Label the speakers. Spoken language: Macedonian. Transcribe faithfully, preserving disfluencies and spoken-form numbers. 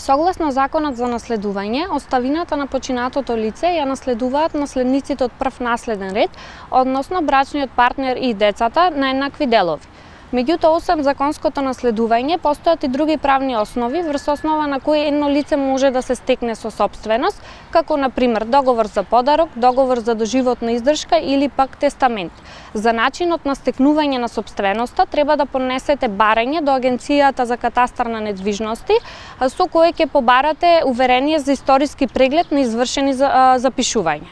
Speaker 1: Согласно Законот за наследување, оставината на починатото лице ја наследуваат наследниците од прв наследен ред, односно брачниот партнер и децата на еднакви делови. Меѓутоа, освен законското наследување, постојат и други правни основи врз основа на кои едно лице може да се стекне со сопственост, како на пример договор за подарок, договор за доживотна издршка или пак тестамент. За начинот на стекнување на сопственоста треба да поднесете барање до Агенцијата за катастар на недвижности, со кое ќе побарате уверение за историски преглед на извршени запишувања.